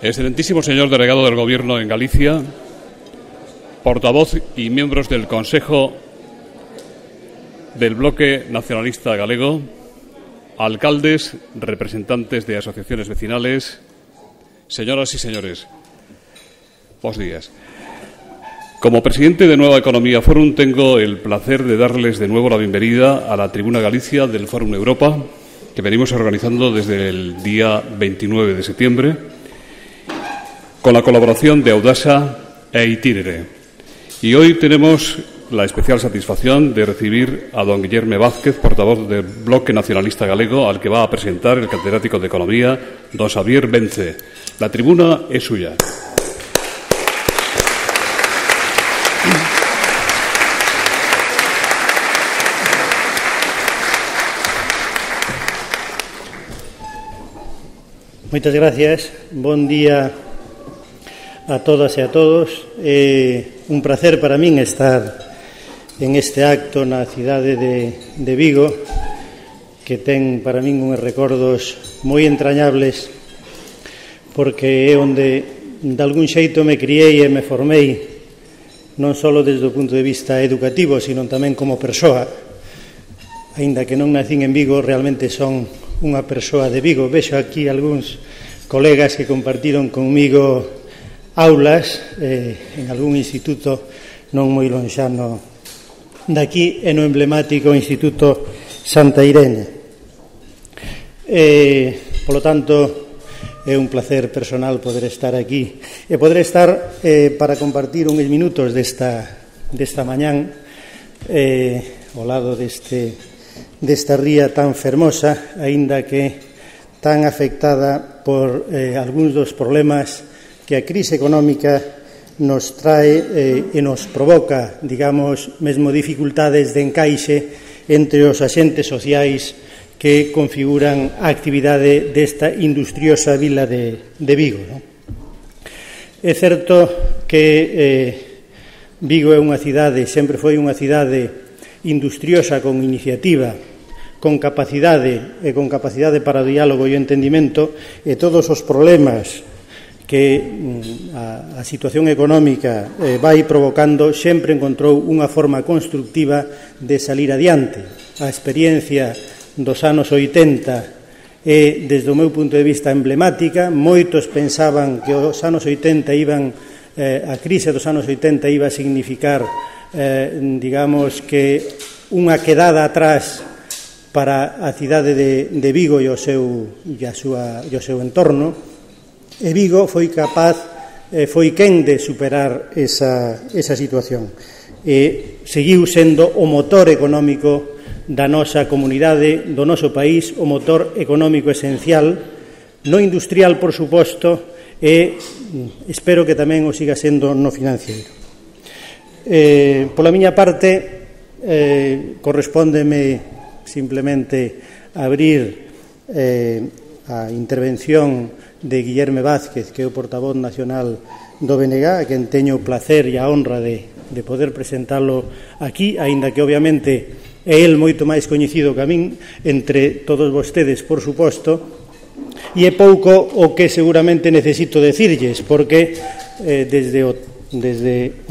Excelentísimo señor delegado del Gobierno en Galicia, portavoz y miembros del Consejo del Bloque Nacionalista Galego, alcaldes, representantes de asociaciones vecinales, señoras y señores, buenos días. Como presidente de Nueva Economía Forum tengo el placer de darles de nuevo la bienvenida a la Tribuna Galicia del Forum Europa, que venimos organizando desde el día 29 de septiembre, con la colaboración de Audasa e Itinere. Y hoy tenemos la especial satisfacción de recibir a don Guillerme Vázquez, portavoz del Bloque Nacionalista Galego, al que va a presentar el catedrático de Economía, don Xavier Vence. La tribuna es suya. Moitas gracias. Bon día a todas e a todos. É un placer para min estar en este acto na cidade de Vigo, que ten para min uns recordos moi entrañables, porque é onde de algún xeito me criei e me formei, non só desde o punto de vista educativo, sino tamén como persoa. Aínda que non nacín en Vigo, realmente son unha persoa de Vigo. Vexo aquí algúns colegas que compartiron comigo aulas en algún instituto non moi lonxano daqui, e no emblemático Instituto Santa Irene. Polo tanto, é un placer personal poder estar aquí e poder estar para compartir uns minutos desta mañán ao lado desta ría tan fermosa, aínda que tan afectada por algúns dos problemas que a crise económica nos trae e nos provoca, digamos, mesmo dificultades de encaixe entre os axentes sociais que configuran a actividade desta industriosa vila de Vigo, non? É certo que Vigo é unha cidade, sempre foi unha cidade industriosa con iniciativa, con capacidade para o diálogo e o entendimento, e todos os problemas que a situación económica vai provocando sempre encontrou unha forma constructiva de salir adiante. A experiencia dos anos 80 é, desde o meu punto de vista, emblemática. Moitos pensaban que os anos 80 a crise dos anos 80 iba a significar, digamos, que unha quedada atrás para a cidade de Vigo e o seu entorno, e Vigo foi capaz, foi quen de superar esa situación, e seguiu sendo o motor económico da nosa comunidade, do noso país, o motor económico esencial, no industrial, por suposto, e espero que tamén o siga sendo no financiero. Pola miña parte, correspóndeme simplemente abrir a intervención de Guillerme Vázquez, que é o portavoz nacional do BNG, a quen teño o placer e a honra de poder presentalo aquí, aínda que obviamente é el moito máis coñecido que a min entre todos vostedes, por suposto, e é pouco o que seguramente necesito decirlles, porque desde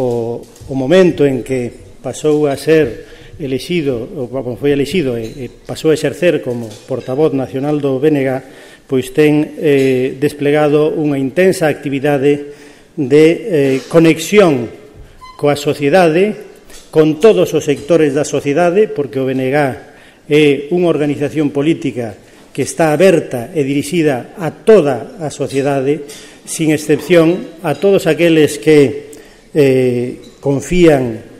o momento en que pasou a ser foi elixido e pasou a exercer como portavoz nacional do BNG, pois ten desplegado unha intensa actividade de conexión coa sociedade, con todos os sectores da sociedade, porque o BNG é unha organización política que está aberta e dirixida a toda a sociedade, sin excepción, a todos aqueles que confían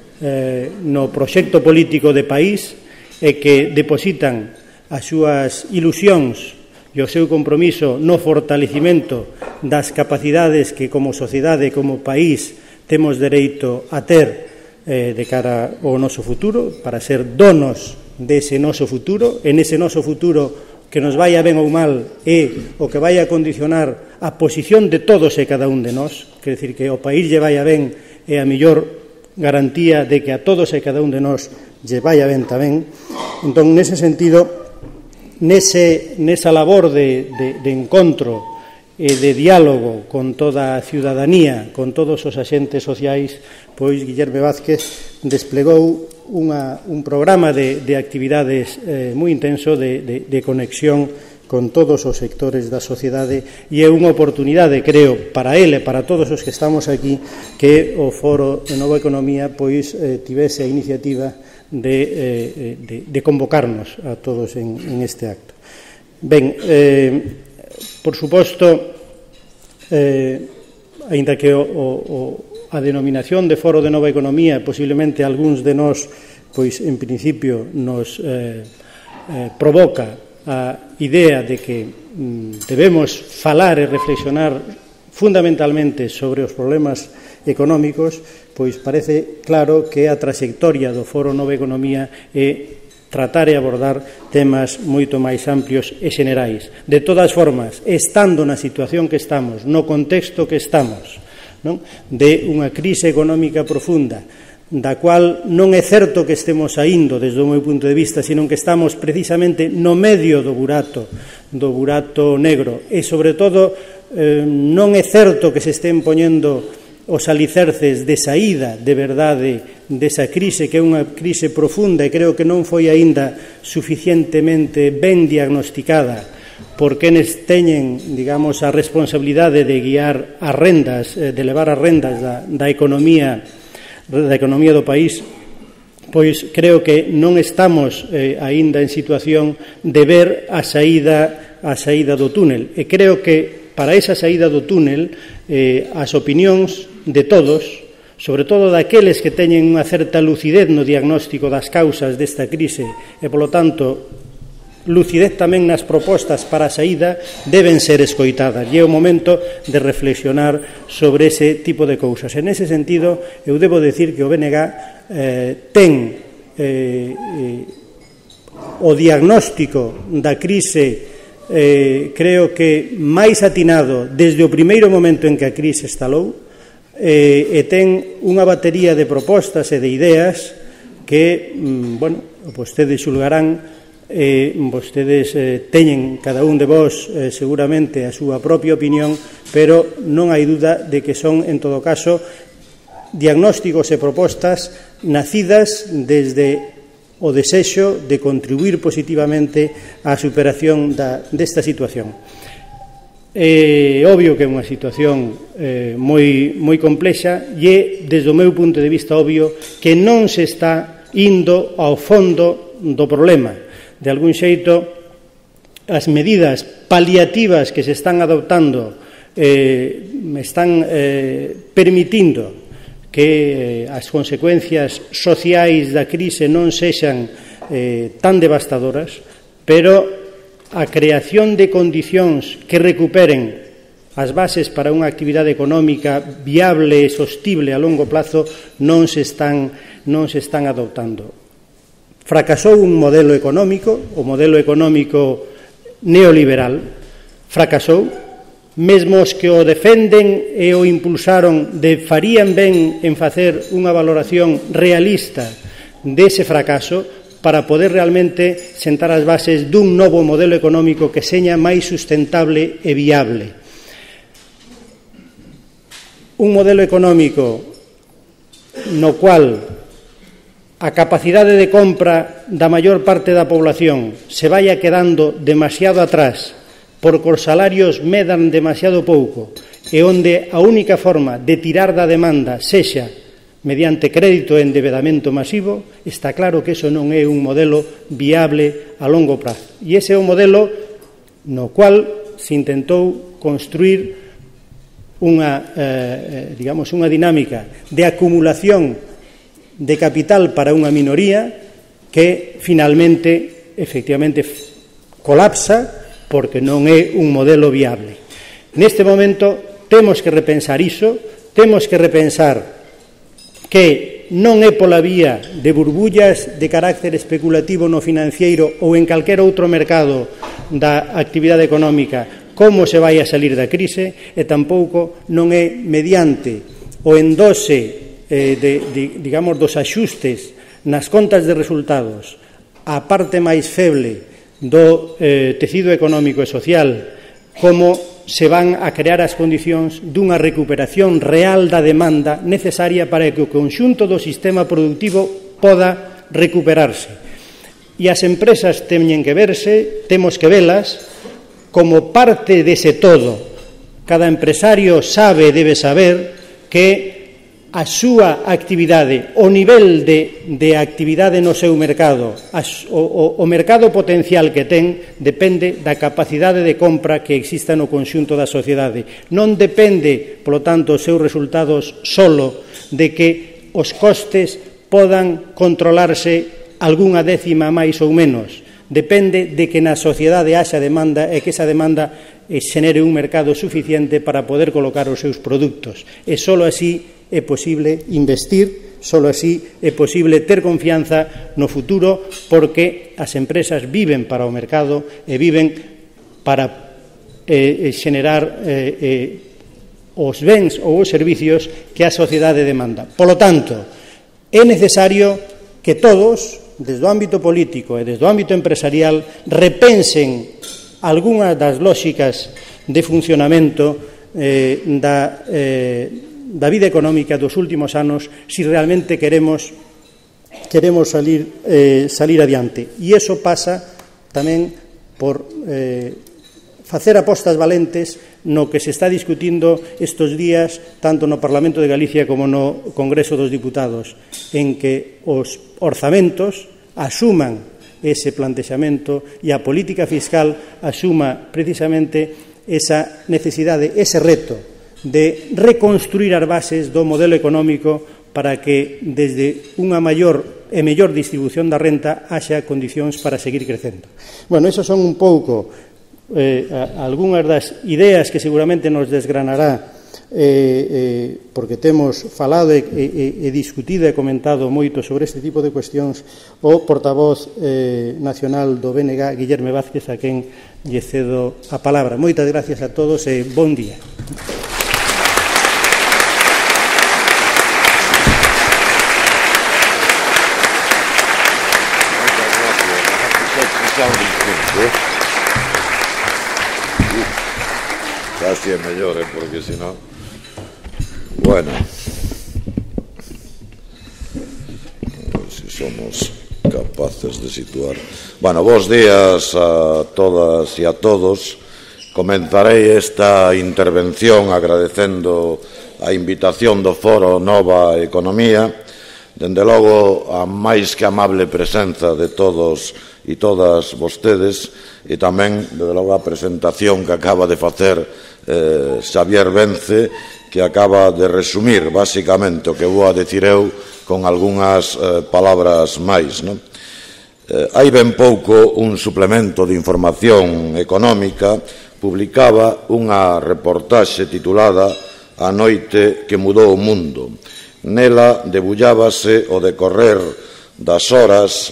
no proxecto político de país e que depositan as súas ilusións e o seu compromiso no fortalecimento das capacidades que como sociedade, como país, temos dereito a ter de cara ao noso futuro, para ser donos dese noso futuro, e nese noso futuro que nos vaya ben ou mal é o que vai a condicionar a posición de todos e cada un de nós, quer decir que o país lle vaya ben é a mellor garantía de que a todos e cada un de nós lle vaya ben tamén. Entón, nese sentido, nesa labor de encontro e de diálogo con toda a ciudadanía, con todos os axentes sociais, pois Guillerme Vázquez desplegou un programa de actividades moi intenso de conexión con todos os sectores da sociedade, e é unha oportunidade, creo, para ele e para todos os que estamos aquí, que o Foro de Nova Economía pois tivese a iniciativa de convocarnos a todos en este acto. Ben, por suposto, aínda que a denominación de Foro de Nova Economía posiblemente algúns de nós pois en principio nos provoca a idea de que debemos falar e reflexionar fundamentalmente sobre os problemas económicos, pois parece claro que a trayectoria do Foro Nova Economía é tratar e abordar temas moito máis amplios e xenerais. De todas formas, estando na situación que estamos, no contexto que estamos, non? De unha crise económica profunda, da cual non é certo que estemos saindo desde o meu punto de vista, sino que estamos precisamente no medio do burato negro, e sobre todo non é certo que se estén poñendo os alicerces de saída de verdade desa crise, que é unha crise profunda e creo que non foi aínda suficientemente ben diagnosticada por quenes teñen, digamos, a responsabilidade de guiar as rendas, de levar as rendas da economía do país. Pois creo que non estamos aínda en situación de ver a saída do túnel, e creo que para esa saída do túnel as opinións de todos, sobre todo daqueles que teñen unha certa lucidez no diagnóstico das causas desta crise e, polo tanto, lucidez tamén nas propostas para a saída, deben ser escoitadas, e é o momento de reflexionar sobre ese tipo de cousas. En ese sentido, eu debo decir que o BNG ten o diagnóstico da crise creo que máis atinado desde o primeiro momento en que a crise estalou, e ten unha batería de propostas e de ideas que, bueno, vostedes xulgarán, vostedes teñen cada un de vós seguramente a súa propia opinión, pero non hai duda de que son, en todo caso, diagnósticos e propostas nacidas desde o desexo de contribuir positivamente á superación desta situación. É obvio que é unha situación moi complexa, e é, desde o meu punto de vista, obvio que non se está indo ao fondo do problema. De algún xeito, as medidas paliativas que se están adoptando están permitindo que as consecuencias sociais da crise non sexan tan devastadoras, pero a creación de condicións que recuperen as bases para unha actividade económica viable e sostible a longo plazo non se están adoptando. Fracasou un modelo económico, o modelo económico neoliberal, fracasou. Mesmo os que o defenden e o impulsaron farían ben en facer unha valoración realista dese fracaso para poder realmente sentar as bases dun novo modelo económico que seña máis sustentable e viable. Un modelo económico no cual a capacidade de compra da maior parte da población se vaya quedando demasiado atrás porque os salarios medan demasiado pouco, e onde a única forma de tirar da demanda sexa mediante crédito e endebedamento masivo, está claro que eso non é un modelo viable a longo prazo. E ese é o modelo no cual se intentou construir unha dinámica de acumulación de capital para unha minoría que finalmente, efectivamente, colapsa porque non é un modelo viable. Neste momento temos que repensar iso, temos que repensar que non é pola vía de burbullas de carácter especulativo no financiero ou en calquer outro mercado da actividade económica como se vai a salir da crise, e tampouco non é mediante o endose dos axustes nas contas de resultados a parte máis feble do tecido económico e social como se van a crear as condicións dunha recuperación real da demanda necesaria para que o conxunto do sistema productivo poda recuperarse. E as empresas temos que velas como parte dese todo. Cada empresario sabe, debe saber, que a súa actividade, o nivel de actividade no seu mercado, o mercado potencial que ten, depende da capacidade de compra que exista no conxunto da sociedade. Non depende, polo tanto, os seus resultados solo de que os costes podan controlarse algunha décima máis ou menos. Depende de que na sociedade haxa demanda e que esa demanda xenere un mercado suficiente para poder colocar os seus produtos. E só así é posible investir, só así é posible ter confianza no futuro, porque as empresas viven para o mercado e viven para xenerar os bens ou os servicios que a sociedade demanda. Polo tanto, é necesario que todos, desde o ámbito político e desde o ámbito empresarial, repensen algunhas das lóxicas de funcionamento da vida económica dos últimos anos, se realmente queremos salir adiante. E iso pasa tamén por facer apostas valentes no que se está discutindo estes días tanto no Parlamento de Galicia como no Congreso dos Diputados, en que os orzamentos asuman ese plantexamento e a política fiscal asuma precisamente esa necesidade, ese reto de reconstruir as bases do modelo económico para que desde unha maior e mellor distribución da renta haxa condicións para seguir crecendo. Bueno, esas son un pouco algunhas das ideas que seguramente nos desgranará porque temos falado e discutido e comentado moito sobre este tipo de cuestións o portavoz nacional do BNG, Guillerme Vázquez, a quen lle cedo a palabra. Moitas gracias a todos e bon día. Casi es mellor, porque si no... Bueno, a ver si somos capaces de situar. Bueno, bons días a todas e a todos. Comenzarei esta intervención agradecendo a invitación do Foro Nova Economía, dende logo a máis que amable presenza de todos e todas vostedes, e tamén, desde logo, a presentación que acaba de facer Xavier Vence, que acaba de resumir, basicamente, o que vou a dicir eu con algunhas palabras máis, non? Hai ben pouco un suplemento de información económica publicaba unha reportaxe titulada A noite que mudou o mundo. Nela debullábase o decorrer das horas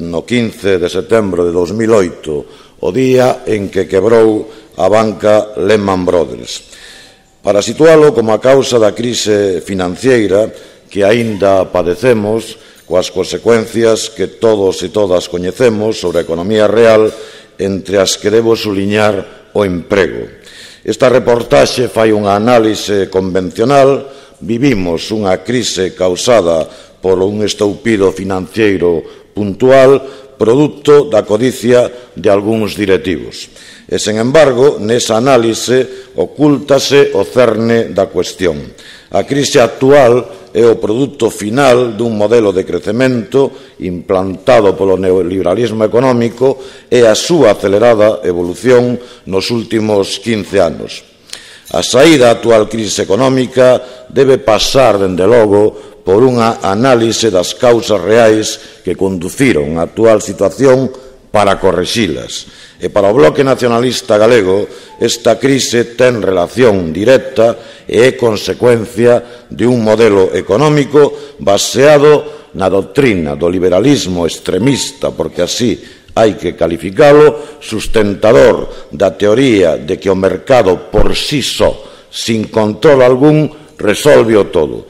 no 15 de setembro de 2008, o día en que quebrou a banca Lehman Brothers. Para situalo como a causa da crise financiera que aínda padecemos, coas consecuencias que todos e todas coñecemos sobre a economía real, entre as que debo suliñar o emprego. Esta reportaxe fai unha análise convencional. Vivimos unha crise causada por un estoupido financeiro puntual, produto da codicia de algúns directivos. E, sen embargo, nesa análise ocúltase o cerne da cuestión. A crise actual é o produto final dun modelo de crecemento implantado polo neoliberalismo económico e a súa acelerada evolución nos últimos 15 anos. A saída da actual crise económica debe pasar, dende logo, por unha análise das causas reais que conduciron a actual situación para correxilas. E para o Bloque Nacionalista Galego, esta crise ten relación directa e é consecuencia de un modelo económico baseado na doutrina do liberalismo extremista, porque así hai que calificalo, sustentador da teoría de que o mercado por sí só, sin control algún, resolve o todo.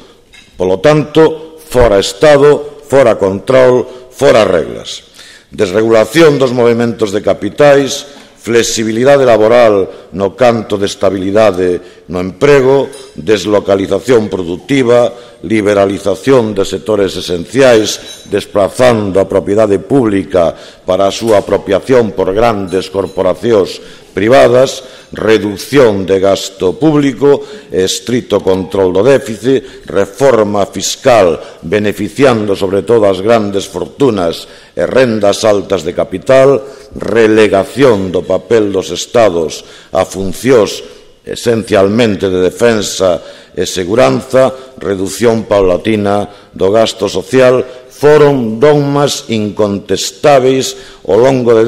Polo tanto, fora Estado, fora control, fora reglas. Desregulación dos movementos de capitais, flexibilidade laboral no canto de estabilidade no emprego, deslocalización produtiva, liberalización de sectores esenciais, desplazando a propiedade pública para a súa apropiación por grandes corporacións privadas, reducción de gasto público, estrito control do déficit, reforma fiscal beneficiando sobre todo as grandes fortunas e rendas altas de capital, relegación do papel dos Estados a funcións esencialmente de defensa e seguranza, redución paulatina do gasto social, foron dogmas incontestáveis ao longo de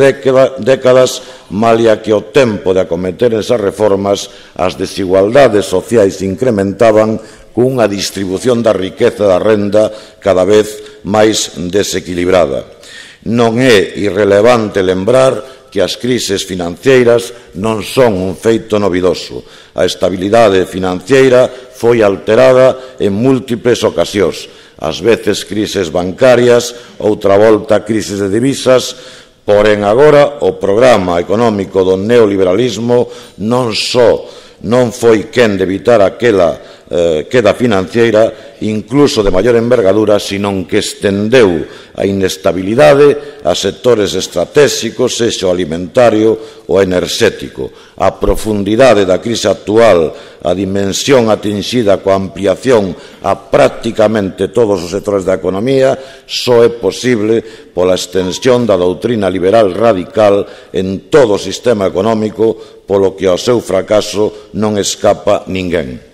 décadas, malia que o tempo de acometer esas reformas as desigualdades sociais incrementaban cunha distribución da riqueza e da renda cada vez máis desequilibrada. Non é irrelevante lembrar que as crises financeiras non son un feito novidoso. A estabilidade financeira foi alterada en múltiples ocasións, ás veces crises bancarias, outra volta crises de divisas, porén agora o programa económico do neoliberalismo non só non foi quen de evitar aquela queda financiera, incluso de maior envergadura, senón que estendeu a inestabilidade a sectores estratégicos, sexa o alimentario ou enerxético. A profundidade da crise actual, a dimensión atinxida coa ampliación a prácticamente todos os sectores da economía, só é posible pola extensión da doutrina liberal radical en todo o sistema económico, polo que ao seu fracaso non escapa ninguén.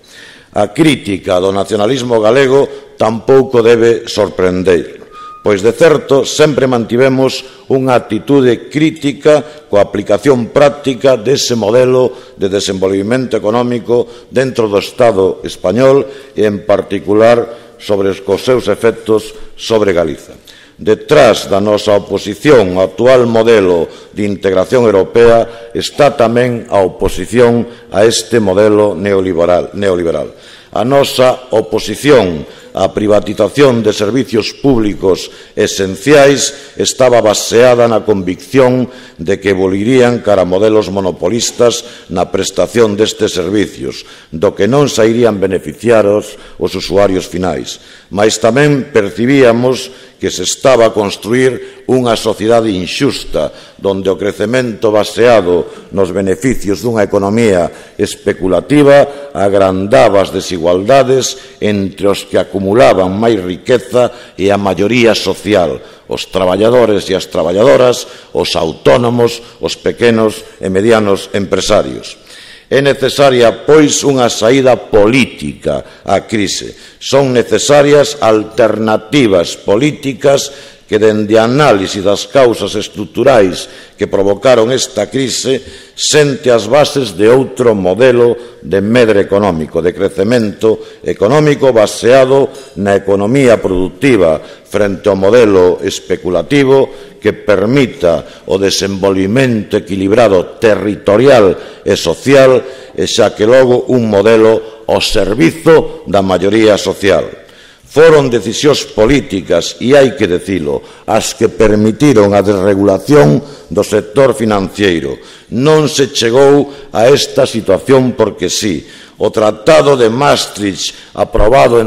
A crítica do nacionalismo galego tampouco debe sorprender, pois de certo sempre mantivemos unha actitude crítica coa aplicación práctica dese modelo de desenvolvimento económico dentro do Estado español e, en particular, sobre os seus efectos sobre Galiza. Detrás da nosa oposición ao actual modelo de integración europea está tamén a oposición a este modelo neoliberal. A nosa oposición á privatización de servicios públicos esenciais estaba baseada na convicción de que evoluirían cara a modelos monopolistas na prestación destes servicios, do que non sairían beneficiados os usuarios finais. Mais tamén percibíamos que se estaba a construir unha sociedade inxusta, donde o crecemento baseado nos beneficios dunha economía especulativa agrandaba as desigualdades entre os que acumulaban máis riqueza e a maioría social, os traballadores e as traballadoras, os autónomos, os pequenos e medianos empresarios. É necesaria, pois, unha saída política á crise. Son necesarias alternativas políticas que, dende a análise das causas estruturais que provocaron esta crise, sente as bases de outro modelo de medre económico, de crecemento económico baseado na economía productiva frente ao modelo especulativo que permita o desenvolvimento equilibrado territorial e social e xa que logo un modelo ao servizo da maioría social. Foron decisións políticas, e hai que dicilo, as que permitiron a desregulación do sector financiero. Non se chegou a esta situación porque sí. O Tratado de Maastricht, apoiado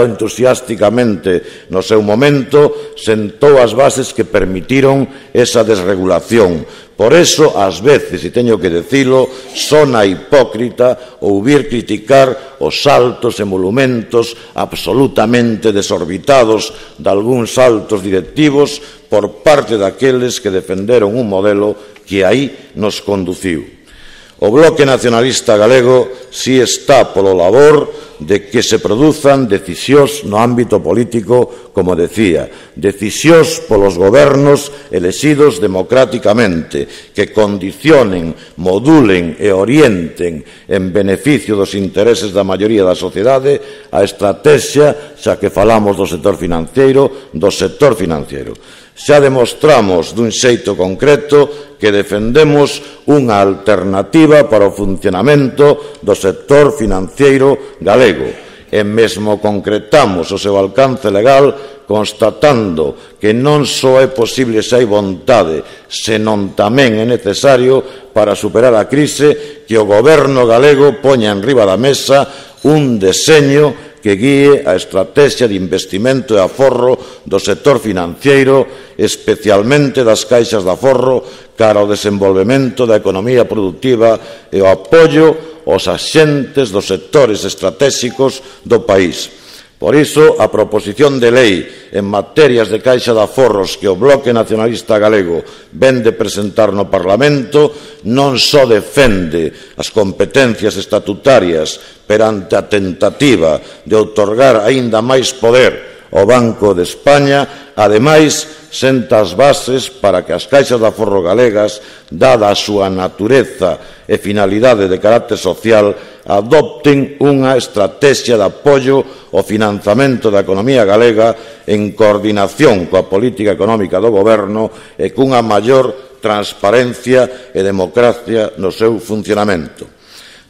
entusiásticamente no seu momento, sentou as bases que permitiron esa desregulación. Por eso, ás veces, e teño que dicilo, sona hipócrita ouvir criticar os saltos e emolumentos absolutamente desorbitados de algúns altos directivos por parte daqueles que defenderon un modelo que aí nos conduciu. O Bloque Nacionalista Galego si está polo labor de que se produzan decisións no ámbito político, como decía, decisións polos gobernos elexidos democráticamente, que condicionen, modulen e orienten en beneficio dos intereses da maioría da sociedade a estrategia, xa que falamos do sector financiero, Xa demostramos dun xeito concreto que defendemos unha alternativa para o funcionamento do sector financiero galego e mesmo concretamos o seu alcance legal constatando que non só é posible se hai vontade, senón tamén é necesario para superar a crise que o Goberno galego poña enriba da mesa un deseño que guíe a estrategia de investimento e aforro do sector financeiro, especialmente das caixas de aforro, cara ao desenvolvemento da economía productiva e o apoio aos axentes dos sectores estratégicos do país. Por iso, a proposición de lei en materias de caixa de aforros que o Bloque Nacionalista Galego vén de presentar no Parlamento non só defende as competencias estatutarias perante a tentativa de outorgar aínda máis poder ao Banco de España, ademais senta as bases para que as caixas de aforro galegas, dada a súa natureza e finalidade de carácter social, adopten unha estrategia de apoio ao financiamento da economía galega en coordinación coa política económica do Goberno e cunha maior transparencia e democracia no seu funcionamento.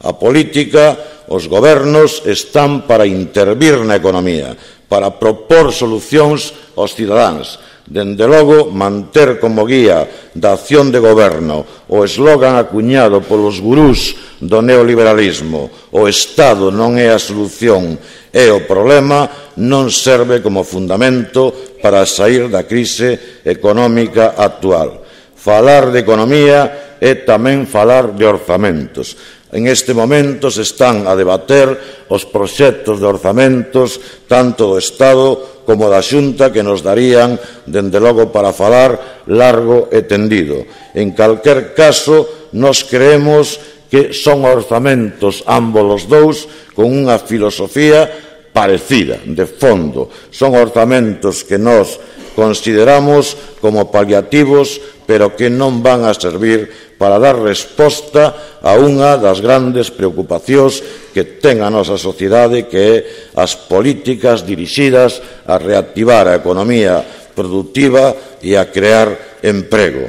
A política, os gobernos están para intervir na economía, para propor solucións aos cidadáns. Dende logo, manter como guía da acción de goberno o eslogan acuñado polos gurús do neoliberalismo "o Estado non é a solución, é o problema", non serve como fundamento para saír da crise económica actual. Falar de economía é tamén falar de orzamentos. En este momento se están a debater os proxectos de orzamentos tanto do Estado como da Xunta que nos darían, dende logo, para falar largo e tendido. En calquer caso, nos creemos que son orzamentos ambos os dous con unha filosofía parecida, de fondo. Son orzamentos que nos consideramos como paliativos, pero que non van a servir para dar resposta a unha das grandes preocupacións que ten a nosa sociedade, que é as políticas dirixidas a reactivar a economía productiva e a crear emprego.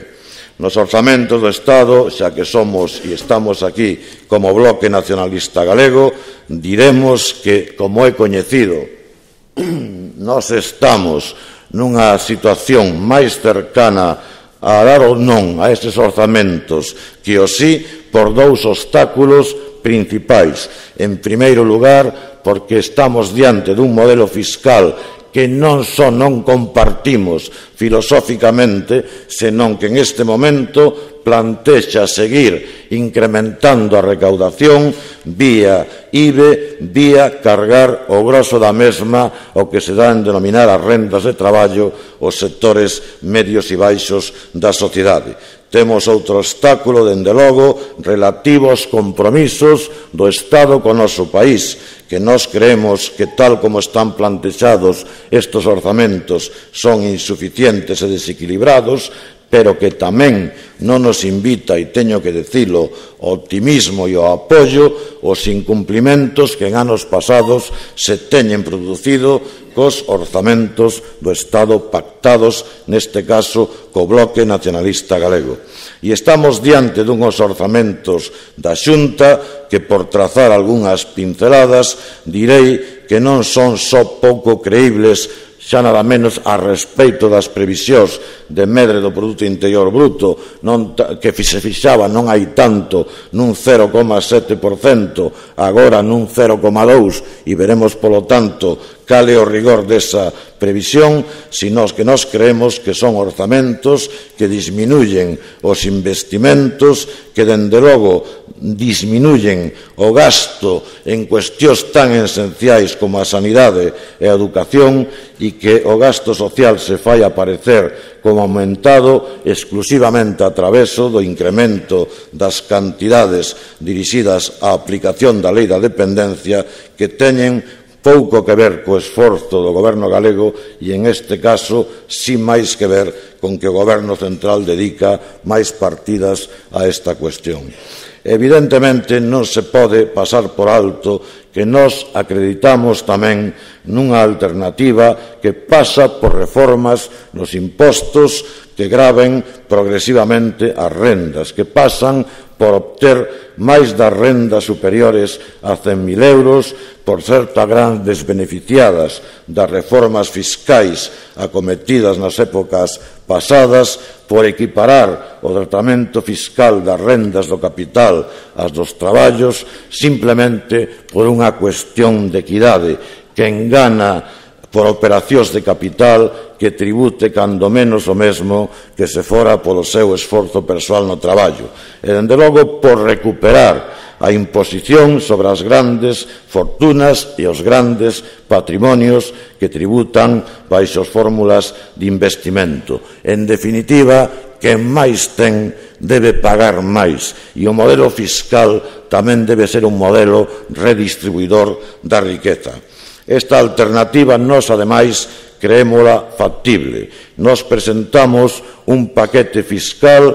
Nos orzamentos do Estado, xa que somos e estamos aquí como Bloque Nacionalista Galego, diremos que, como é coñecido, nós estamos nunha situación máis cercana a dar ou non a estes orzamentos que o sí por dous obstáculos principais. En primeiro lugar, porque estamos diante dun modelo fiscal que non só non compartimos filosóficamente, senón que en este momento plantexa seguir incrementando a recaudación vía IBE, vía cargar o grosso da mesma o que se dá en denominar as rendas de traballo os sectores medios e baixos da sociedade. Temos outro obstáculo, dende logo, relativo aos compromisos do Estado co noso país, que nós creemos que, tal como están plantexados estes orzamentos, son insuficientes e desequilibrados, pero que tamén non nos invita, e teño que dicilo, o optimismo e o apoio aos incumplimentos que en anos pasados se teñen producido cos orzamentos do Estado pactados, neste caso, co Bloque Nacionalista Galego. E estamos diante dunhos orzamentos da Xunta que, por trazar algunhas pinceladas, direi que non son só pouco creíbles, xa nada menos a respecto das previsións de medre do Produto Interior Bruto, que se fixaba non hai tanto nun 0,7%, agora nun 0,2%, e veremos, polo tanto, cal é o rigor desa previsión, sino que nós creemos que son orzamentos que disminuyen os investimentos, que, dende logo, disminuyen o gasto en cuestións tan esenciais como a sanidade e a educación, e que o gasto social se fai aparecer como aumentado exclusivamente a traveso do incremento das cantidades dirixidas á aplicación da lei da dependencia, que teñen pouco que ver co esforzo do Goberno galego e, en este caso, si máis que ver con que o Goberno central dedica máis partidas a esta cuestión. Evidentemente, non se pode pasar por alto que nós acreditamos tamén nunha alternativa que pasa por reformas nos impostos que graven progresivamente as rendas, que pasan por obter máis das rendas superiores a 100.000 euros, por certo a grandes beneficiadas das reformas fiscais acometidas nas épocas pasadas, por equiparar o tratamento fiscal das rendas do capital ás dos traballos, simplemente por unha cuestión de equidade que engana por operacións de capital que tribute cando menos o mesmo que se fora polo seu esforzo persoal no traballo, e, dende logo, por recuperar a imposición sobre as grandes fortunas e os grandes patrimonios que tributan baixo as fórmulas de investimento. En definitiva, quen máis ten debe pagar máis, e o modelo fiscal tamén debe ser un modelo redistribuidor da riqueza. Esta alternativa nós, ademais, creémola factible. Nos presentamos un paquete fiscal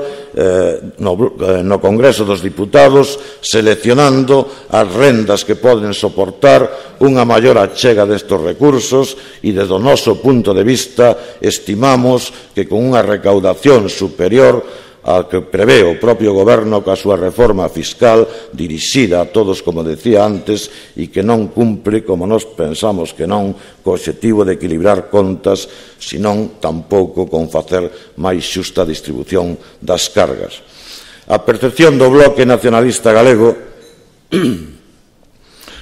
no Congreso dos Diputados, seleccionando as rendas que poden soportar unha maior achega destes recursos, e, desde o noso punto de vista, estimamos que con unha recaudación superior ao que prevé o propio Goberno coa súa reforma fiscal dirixida a todos, como decía antes, e que non cumpre, como nós pensamos que non, co obxectivo de equilibrar contas, senón tampouco con facer máis xusta distribución das cargas. A percepción do Bloque Nacionalista Galego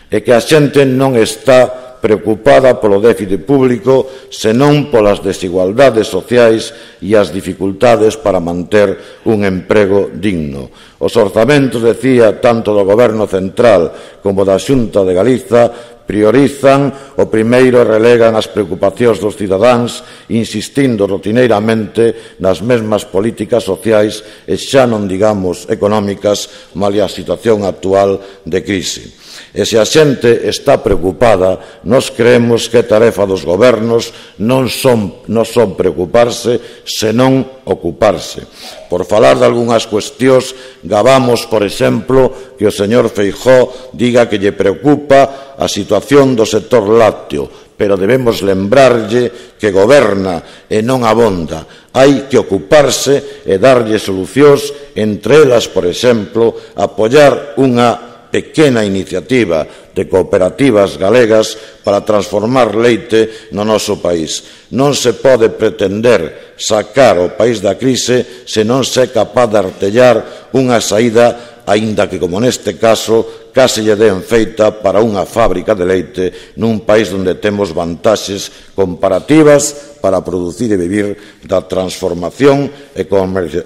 é que a xente non está preocupada polo déficit público, senón polas desigualdades sociais e as dificultades para manter un emprego digno. Os orzamentos, decía, tanto do Goberno central como da Xunta de Galiza, priorizan o primeiro e relegan as preocupacións dos cidadáns, insistindo rotineiramente nas mesmas políticas sociais e xa non digamos económicas, malia a situación actual de crise. E se a xente está preocupada, nós creemos que a tarefa dos gobernos non son preocuparse, senón ocuparse. Por falar de algunhas cuestións, gabamos, por exemplo, que o señor Feijóo diga que lle preocupa a situación do sector lácteo, pero debemos lembrarlle que goberna e non abonda. Hai que ocuparse e darlle solucións, entre elas, por exemplo, apoiar unha pequena iniciativa de cooperativas galegas para transformar leite no noso país. Non se pode pretender sacar o país da crise se non se é capaz de artellar unha saída, aínda que, como neste caso, case lle den feita para unha fábrica de leite nun país onde temos vantaxes comparativas para producir e vivir da transformación e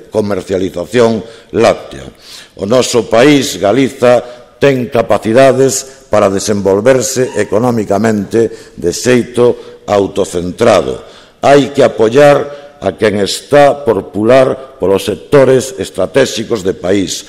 comercialización láctea. O noso país, Galiza, ten capacidades para desenvolverse económicamente de xeito autocentrado. Hai que apoiar a quen está por pular polos sectores estratégicos de país.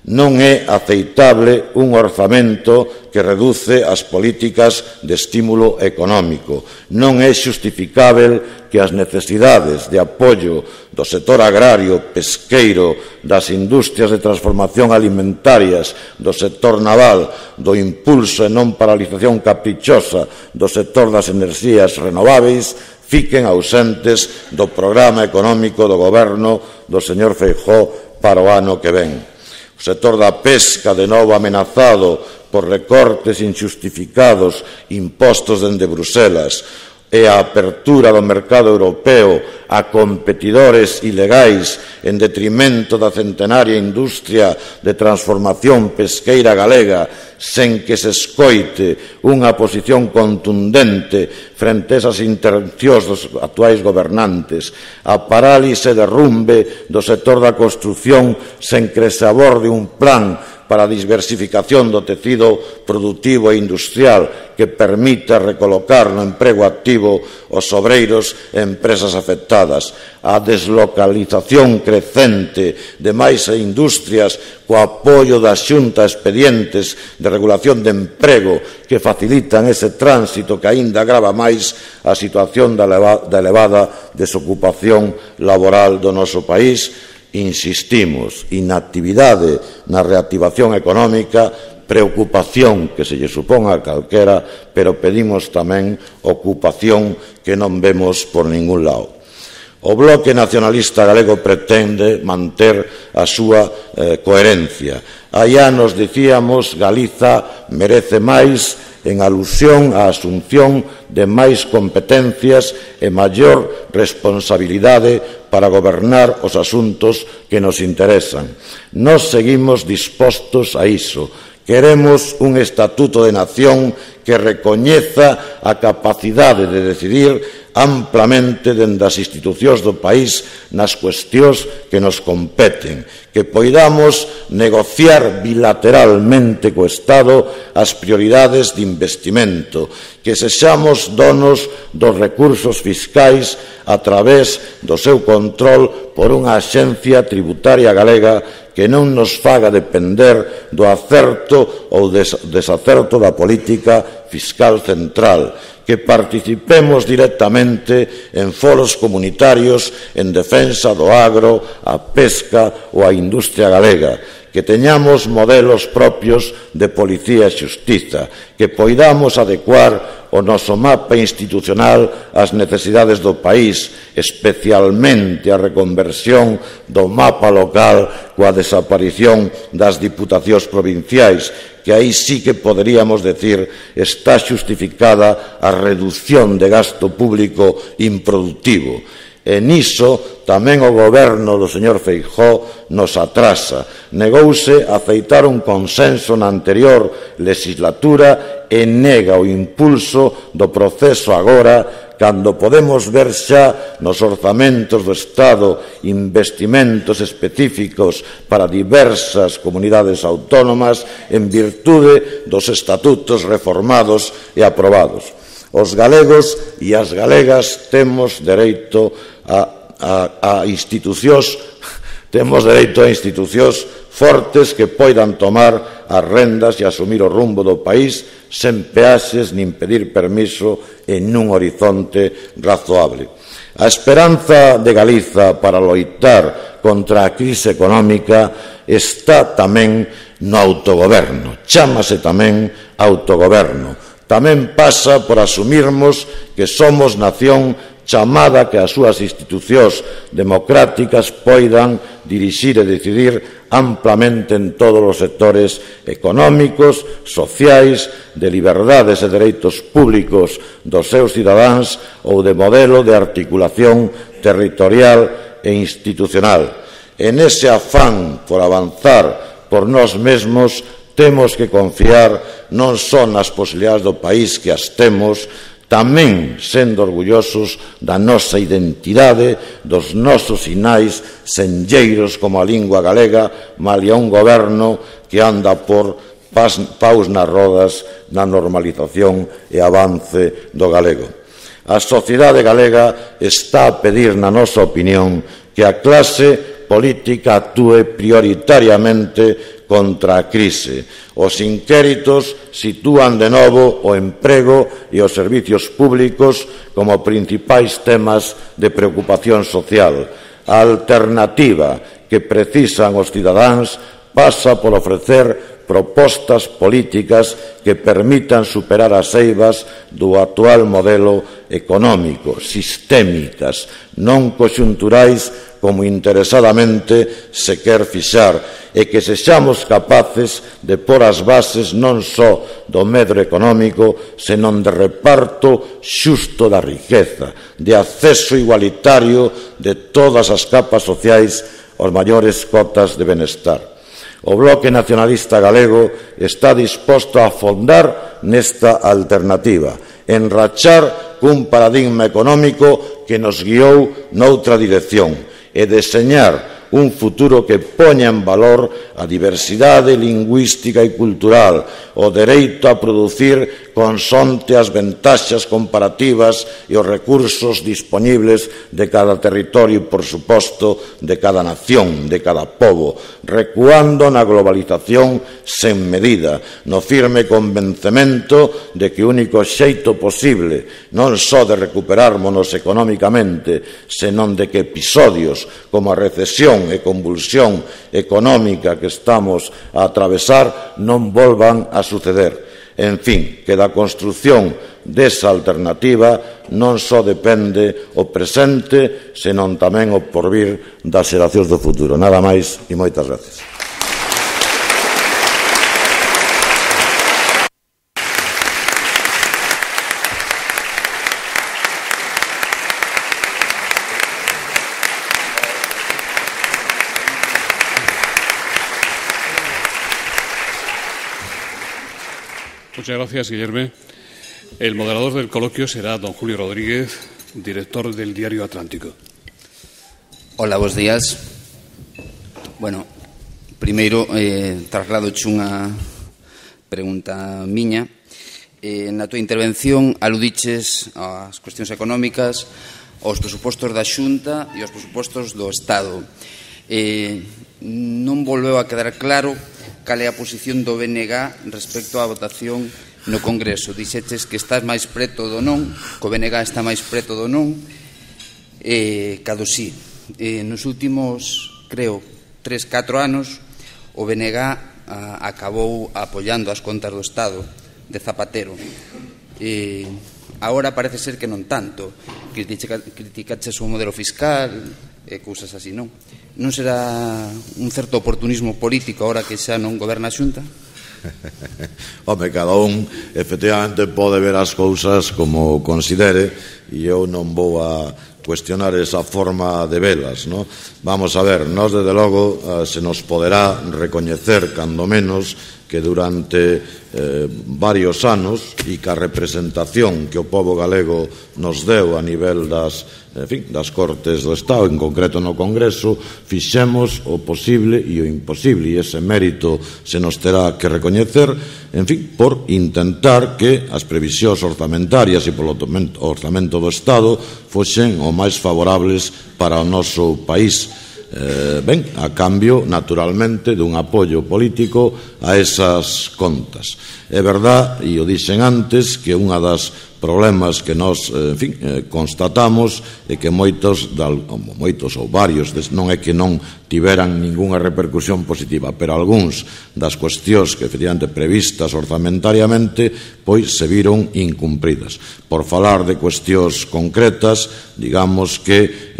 Non é aceitable un orzamento que reduce as políticas de estímulo económico. Non é xustificável que as necesidades de apoio do sector agrario, pesqueiro, das industrias de transformación alimentarias, do sector naval, do impulso e non paralización caprichosa do sector das enerxías renováveis fiquen ausentes do programa económico do goberno do señor Feijóo para o ano que ven. O sector da pesca, de novo amenazado por recortes injustificados impostos dende Bruselas, e a apertura do mercado europeo a competidores ilegais en detrimento da centenaria industria de transformación pesqueira galega, sen que se escoite unha posición contundente frente a esas intervencións dos actuais gobernantes, a parálise e derrumbe do sector da construción sen que se aborde un plan para a diversificación do tecido productivo e industrial que permita recolocar no emprego activo os obreiros e empresas afectadas, a deslocalización crecente de máis industrias co apoio da Xunta a expedientes de regulación de emprego que facilitan ese tránsito que aínda agrava máis a situación da elevada desocupación laboral do noso país. Insistimos, inactividade na reactivación económica, preocupación que se lle supón a calquera, pero pedimos tamén ocupación que non vemos por ningún lado. O Bloque Nacionalista Galego pretende manter a súa coherencia. Hai anos dicíamos Galiza merece máis en alusión á asunción de máis competencias e maior responsabilidade para gobernar os asuntos que nos interesan. Nós seguimos dispostos a iso. Queremos un estatuto de nación que recoñeza a capacidade de decidir amplamente dende as institucións do país nas cuestións que nos competen, que poidamos negociar bilateralmente co Estado as prioridades de investimento, que sexamos donos dos recursos fiscais a través do seu control por unha axencia tributaria galega que non nos faga depender do acerto ou desacerto da política fiscal central, que participemos directamente en foros comunitarios en defensa do agro, a pesca ou a industria galega, que teñamos modelos propios de policía e xustiza, que poidamos adecuar o noso mapa institucional ás necesidades do país, especialmente a reconversión do mapa local coa desaparición das diputacións provinciais, que aí sí que poderíamos decir está xustificada a reducción de gasto público improductivo. E niso tamén o goberno do señor Feijóo nos atrasa. Negouse a aceitar un consenso na anterior legislatura e nega o impulso do proceso agora, cando podemos ver xa nos orzamentos do Estado investimentos específicos para diversas comunidades autónomas en virtude dos estatutos reformados e aprobados. Os galegos e as galegas temos dereito a institucións fortes que poidan tomar as rendas e asumir o rumbo do país sen peaxes nin pedir permiso en un horizonte razoable. A esperanza de Galiza para loitar contra a crise económica está tamén no autogoberno, chámase tamén autogoberno. Tamén pasa por asumirmos que somos nación chamada que as súas institucións democráticas poidan dirixir e decidir amplamente en todos os sectores económicos, sociais, de liberdades e dereitos públicos dos seus cidadáns ou de modelo de articulación territorial e institucional. En ese afán por avanzar por nós mesmos, temos que confiar non só nas posibilidades do país que as temos, tamén sendo orgullosos da nosa identidade, dos nosos sinais senlleiros como a lingua galega, malia un goberno que anda por paus nas rodas na normalización e avance do galego. A sociedade galega está a pedir, na nosa opinión, que a clase política actúe prioritariamente contra a crise. Os inquéritos sitúan de novo o emprego e os servicios públicos como principais temas de preocupación social. A alternativa que precisan os cidadáns pasa por ofrecer propostas políticas que permitan superar as eivas do actual modelo económico, sistémicas, non conxunturais como interesadamente se quer fixar, e que sexamos capaces de pôr as bases non só do medro económico, senón de reparto xusto da riqueza, de acceso igualitario de todas as capas sociais aos maiores cotas de benestar. O Bloque Nacionalista Galego está disposto a afondar nesta alternativa, enrachar cun paradigma económico que nos guiou noutra dirección e deseñar un futuro que poña en valor a diversidade lingüística e cultural, o dereito a producir consonte as ventaxas comparativas e os recursos dispoñibles de cada territorio e, por suposto, de cada nación, de cada pobo, recuando na globalización sen medida, no firme convencemento de que o único xeito posible non só de recuperármonos económicamente, senón de que episodios como a recesión e convulsión económica que estamos a atravesar non volvan a suceder. En fin, que da construción desa alternativa non só depende o presente, senón tamén o porvir das xeracións do futuro. Nada máis e moitas gracias. Muchas gracias, Guillermo. El moderador del coloquio será don Julio Rodríguez, director del Diario Atlántico. Hola, bos días. Bueno, primeiro traslado unha pregunta miña. Na túa intervención aludiches ás cuestións económicas, aos presupostos da Xunta e aos presupostos do Estado. Non volveu a quedar claro cal é a posición do BNG respecto á votación no Congreso. Dixeches que estás máis preto do non, que o BNG está máis preto do non, cado sí. Nos últimos, creo, 3-4 anos, o BNG acabou apoiando as contas do Estado de Zapatero. Agora parece ser que non tanto. Criticaches o modelo fiscal e cousas así, non? Non será un certo oportunismo político agora que xa non goberna a Xunta? Home, cada un efectivamente pode ver as cousas como considere e eu non vou a cuestionar esa forma de velas, ¿no? Vamos a ver, nós desde logo se nos poderá recoñecer cando menos que durante varios anos e ca representación que o pobo galego nos deu a nivel das Cortes do Estado, en concreto no Congreso, fixemos o posible e o imposible, e ese mérito se nos terá que recoñecer, en fin, por intentar que as previsións orzamentarias e polo orzamento do Estado foxen o máis favorables para o noso país. A cambio, naturalmente, dun apoio político a esas contas. É verdad, e o dixen antes, que unha das problemas que nós, constatamos é que moitos ou varios, non é que non tiveran ningunha repercusión positiva, pero algúns das cuestións que efectivamente previstas orzamentariamente pois se viron incumpridas. Por falar de cuestións concretas, digamos que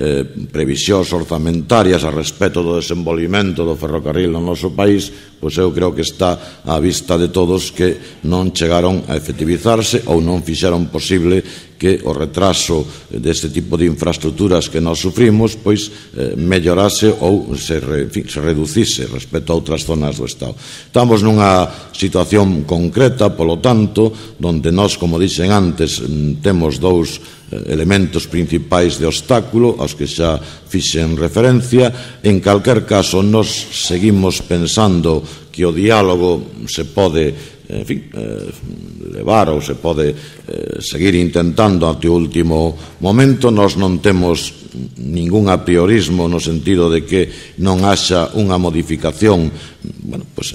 previsións orzamentarias a respecto do desenvolvimento do ferrocarril no noso país, pois eu creo que está á vista de todos que non chegaron a efectivizarse ou non fixeron posible que o retraso deste tipo de infraestructuras que nós sufrimos pois mellorase ou se reducise respecto a outras zonas do Estado. Estamos nunha situación concreta, polo tanto, donde nós, como dixen antes, temos dous elementos principais de obstáculo aos que xa fixen referencia. En calquer caso, nós seguimos pensando que o diálogo se pode levar ou se pode seguir intentando até o último momento. Nós non temos ningún apriorismo no sentido de que non haxa unha modificación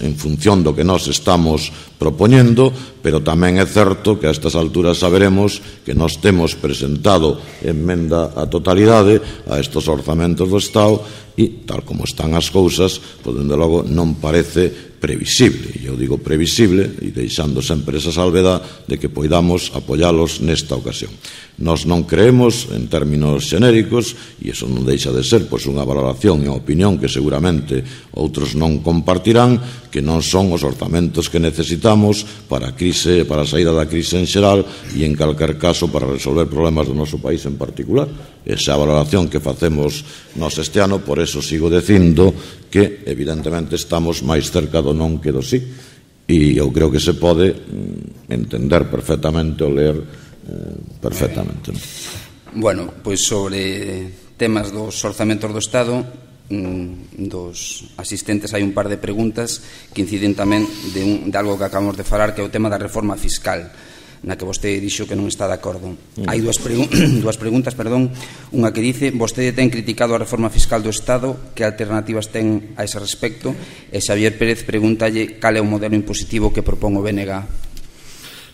en función do que nós estamos propoñendo, pero tamén é certo que a estas alturas saberemos que nós temos presentado emenda á totalidade a estes orzamentos do Estado e, tal como están as cousas, pois, dende logo, non parece previsible, e eu digo previsible, e deixando sempre esa salvedad de que poidamos apoialos nesta ocasión. Nós non creemos, en términos xenéricos, e iso non deixa de ser pois unha valoración e unha opinión que seguramente outros non compartirán, que non son os orzamentos que necesitamos para a saída da crise en xeral e, en calquer caso, para resolver problemas do noso país en particular. Esa é a valoración que facemos nós este ano, por eso sigo dicindo que, evidentemente, estamos máis cerca do non que do sí. E eu creo que se pode entender perfectamente ou ler perfectamente. Bueno, pois sobre temas dos orzamentos do Estado, dos asistentes hai un par de preguntas que inciden tamén de algo que acabamos de falar, que é o tema da reforma fiscal, na que vostede dixo que non está de acordo. Hai dúas preguntas, unha que dice: vostede ten criticado a reforma fiscal do Estado, que alternativas ten a ese respecto? E Xavier Pérez pregúntalle cal é o modelo impositivo que propón o BNG.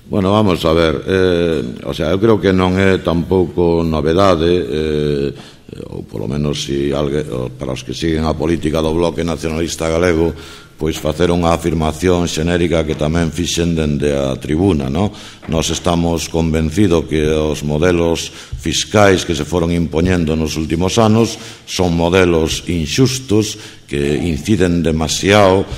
Bueno, vamos a ver, eu creo que non é tampouco novedade, ou polo menos para os que siguen a política do Bloque Nacionalista Galego, pois facer unha afirmación xenérica que tamén fixen dende a tribuna, non? Nós estamos convencidos que os modelos fiscais que se foron impoñendo nos últimos anos son modelos inxustos que inciden demasiado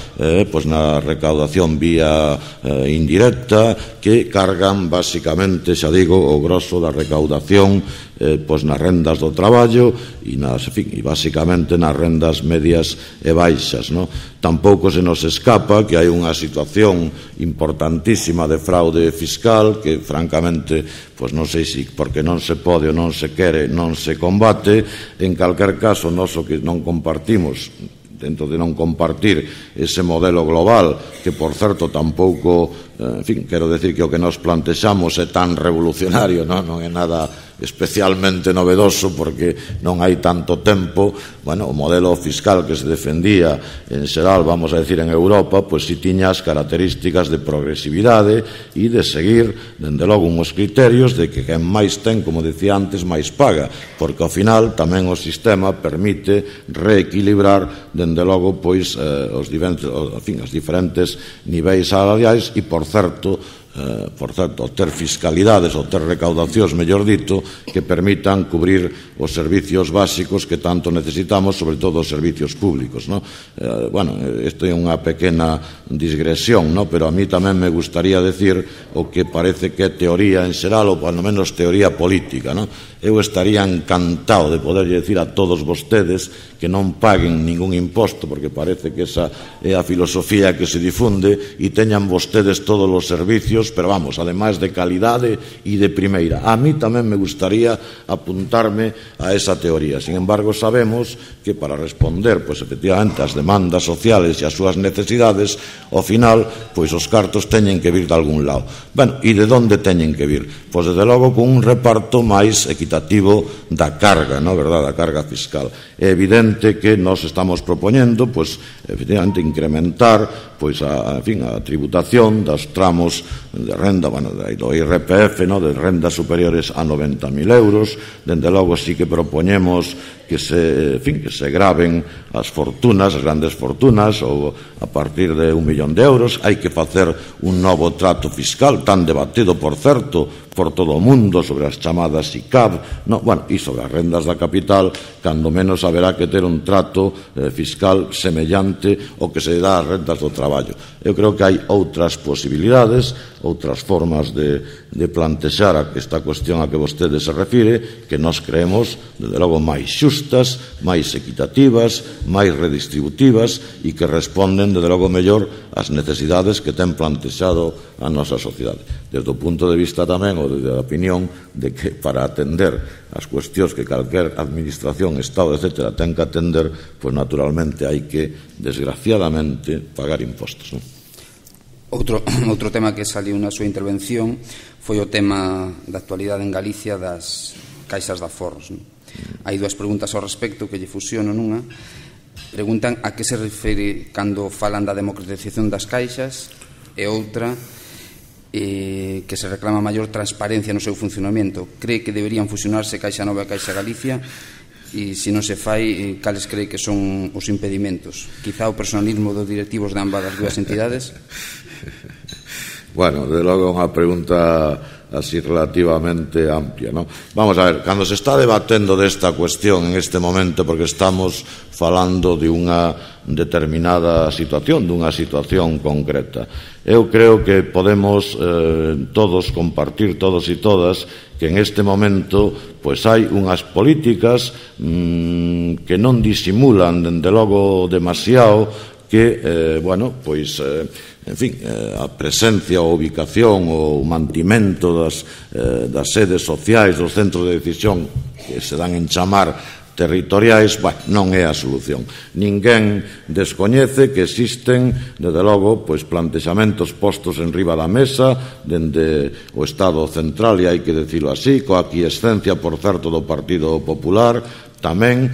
pois na recaudación vía indirecta, que cargan basicamente, xa digo, o grosso da recaudación pois nas rendas do traballo e basicamente nas rendas medias e baixas, non? Tampouco se nos escapa que hai unha situación importantísima de fraude fiscal que francamente pois non sei se porque non se pode ou non se quere non se combate. En calquer caso, nós o que non compartimos, dentro de non compartir ese modelo global, que por certo tampouco, quero decir que o que nos plantexamos é tan revolucionario, non é nada especialmente novedoso porque non hai tanto tempo. Bueno, o modelo fiscal que se defendía en xeral, vamos a decir, en Europa, pois si tiña as características de progresividade e de seguir, dende logo, uns criterios de que quen máis ten, como decía antes, máis paga, porque ao final tamén o sistema permite reequilibrar, dende logo, pois os diferentes niveis salariais e, por certo, ter fiscalidades ou ter recaudacións, mellor dito, que permitan cubrir os servicios básicos que tanto necesitamos, sobre todo os servicios públicos, non? Bueno, isto é unha pequena digresión, non? Pero a mí tamén me gustaría decir o que parece que é teoría en xeral, ou polo menos teoría política, non? Eu estaría encantado de poder decir a todos vostedes que non paguen ningún imposto, porque parece que esa é a filosofía que se difunde, e teñan vostedes todos os servicios, pero vamos, ademais de calidade e de primeira. A mí tamén me gustaría apuntarme a esa teoría. Sin embargo, sabemos que para responder, pois efectivamente, ás demandas sociales e ás súas necesidades, ao final, pois os cartos teñen que vir de algún lado. Ben, e de onde teñen que vir? Pois, desde logo, con un reparto máis equitativo da carga, non, verdad, da carga fiscal. É evidente que nós estamos propoñendo, pois, efectivamente, incrementar, pois, a tributación dos tramos de renda, bueno, do IRPF, no, de rendas superiores a 90.000 euros. Dende logo, sí que propoñemos que se graven as fortunas, as grandes fortunas, ou a partir de 1 millón de euros. Hai que facer un novo trato fiscal, tan debatido, por certo, por todo o mundo, sobre as chamadas ICAP, e sobre as rendas da capital, cando menos haberá que ter un trato fiscal semellante ao que se dá ás rendas do traballo. Eu creo que hai outras posibilidades, outras formas de plantexar esta cuestión a que vostede se refire, que nós creemos, desde logo, máis xustas, máis equitativas, máis redistributivas e que responden, desde logo, mellor ás necesidades que ten plantexado a nosa sociedade. Desde o punto de vista tamén, ou desde a opinión, de que para atender as cuestións que calquer administración, Estado, etc., ten que atender, pois naturalmente hai que, desgraciadamente, pagar impostos, non? Outro tema que saliu na súa intervención foi o tema da actualidade en Galicia das caixas de aforros. Hai dúas preguntas ao respecto que lle fusiono nunha. Preguntan a que se refere cando falan da democratización das caixas, e outra que se reclama maior transparencia no seu funcionamento. Cree que deberían fusionarse Caixa Nova e Caixa Galicia? E se non se fai, cales cree que son os impedimentos? Quizá o personalismo dos directivos de ambas as dúas entidades? Bueno, de logo unha pregunta así relativamente amplia, non? Vamos a ver, cando se está debatendo desta cuestión en este momento, porque estamos falando de unha determinada situación, dunha situación concreta, eu creo que podemos todos compartir, todos e todas, que en este momento pois hai unhas políticas que non disimulan, dende logo, demasiado, que, a presencia ou ubicación ou mantimento das sedes sociais, dos centros de decisión que se dan en chamar territoriais, non é a solución. Ninguén descoñece que existen, desde logo, plantexamentos postos en riba da mesa dende o Estado central, e hai que dicilo así, coa aquiescencia, por certo, do Partido Popular, tamén,